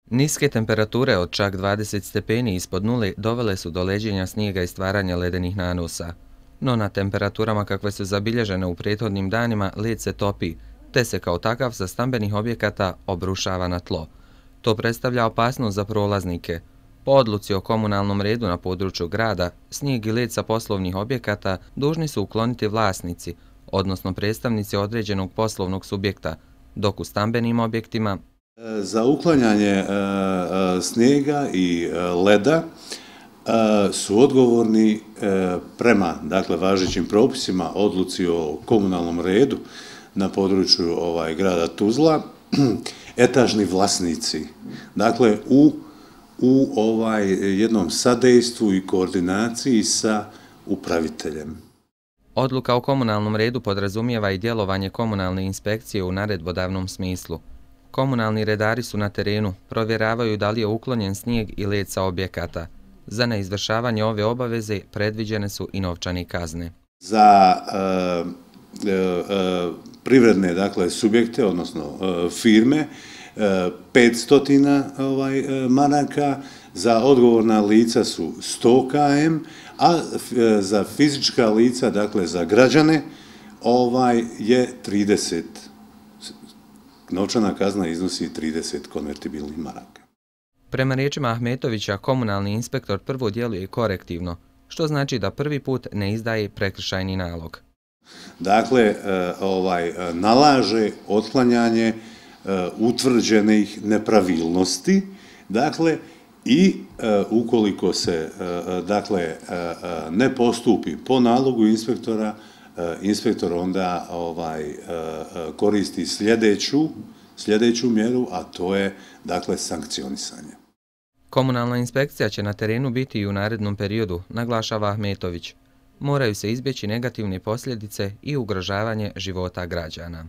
Niske temperature od čak 20 stepeni ispod nule dovele su do leđenja snijega i stvaranja ledenih nanosa. No na temperaturama kakve su zabilježene u prethodnim danima led se topi, te se kao takav sa stambenih objekata obrušava na tlo. To predstavlja opasnost za prolaznike. Po odluci o komunalnom redu na području grada, snijeg i led sa poslovnih objekata dužni su ukloniti vlasnici, odnosno predstavnici određenog poslovnog subjekta, dok u stambenim objektima za uklanjanje snijega i leda su odgovorni prema važećim propisima, odluci o komunalnom redu na području grada Tuzla, etažni vlasnici. Dakle, u jednom sadejstvu i koordinaciji sa upraviteljem. Odluka o komunalnom redu podrazumijeva i djelovanje komunalne inspekcije u naredbodavnom smislu. Komunalni redari su na terenu, provjeravaju da li je uklonjen snijeg i led sa objekata. Za neizvršavanje ove obaveze predviđene su i novčane kazne. Za privredne subjekte, odnosno firme, 500 maraka, za odgovorna lica su 100 km, a za fizička lica, dakle za građane, je 30. Novčana kazna iznosi 30 konvertibilnih maraka. Prema riječima Ahmetovića, komunalni inspektor prvo djeluje korektivno, što znači da prvi put ne izdaje prekršajni nalog. Dakle, nalaže otklanjanje utvrđenih nepravilnosti, dakle, i ukoliko se ne postupi po nalogu inspektora, inspektor onda koristi sljedeću mjeru, a to je sankcionisanje. Komunalna inspekcija će na terenu biti i u narednom periodu, naglašava Ahmetović. Moraju se izbjeći negativne posljedice i ugrožavanje života građana.